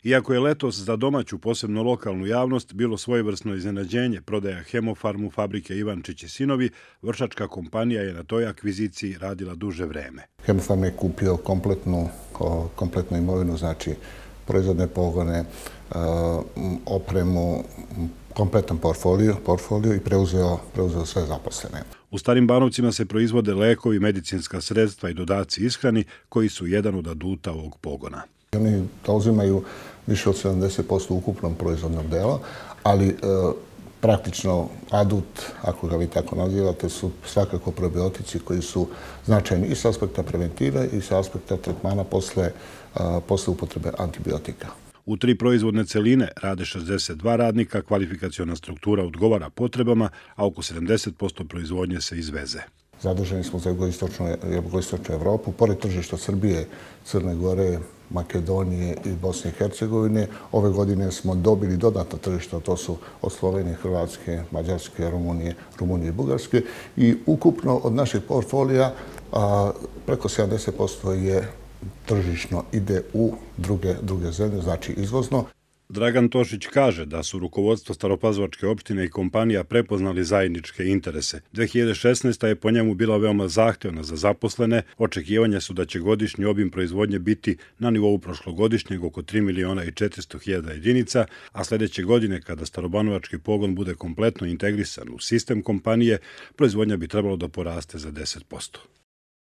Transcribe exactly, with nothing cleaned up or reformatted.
Iako je letos za domaću, posebno lokalnu javnost, bilo svojevrsno iznenađenje prodaja Hemofarmu fabrike Ivančić i sinovi, vršačka kompanija je na toj akviziciji radila duže vreme. Hemofarm je kupio kompletnu, kompletnu imovinu, znači proizvodne pogone, opremu, kompletan portfolio, portfolio i preuzeo, preuzeo sve zaposlene. U Starim Banovcima se proizvode lekovi, medicinska sredstva i dodaci ishrani koji su jedan od aduta ovog pogona. Oni zauzimaju više od sedamdeset posto ukupnog proizvodnog dela, ali e, praktično adut, ako ga vi tako nazivate, su svakako probiotici koji su značajni i s aspekta preventive i s aspekta tretmana posle, a, posle upotrebe antibiotika. U tri proizvodne celine rade šezdeset dva radnika, kvalifikaciona struktura odgovara potrebama, a oko sedamdeset posto proizvodnje se izveze. Zadržani smo za jugoistočnu Evropu, pored tržišta Srbije, Crne Gore, Makedonije i Bosne i Hercegovine. Ove godine smo dobili dodatna tržišta, to su od Slovenije, Hrvatske, Mađarske, Rumunije, Rumunije i Bugarske. I ukupno od našeg portfolija a, preko sedamdeset posto je tržišno ide u druge, druge zemlje, znači izvozno. Dragan Tošić kaže da su rukovodstvo Staropazovačke opštine i kompanija prepoznali zajedničke interese. dve hiljade šesnaesta. je po njemu bila veoma zahtevna za zaposlene. Očekivanja su da će godišnji obim proizvodnje biti na nivou prošlogodišnjeg oko tri miliona i četiristo hiljada jedinica, a sljedeće godine, kada Starobanovački pogon bude kompletno integrisan u sistem kompanije, proizvodnja bi trebalo da poraste za deset posto.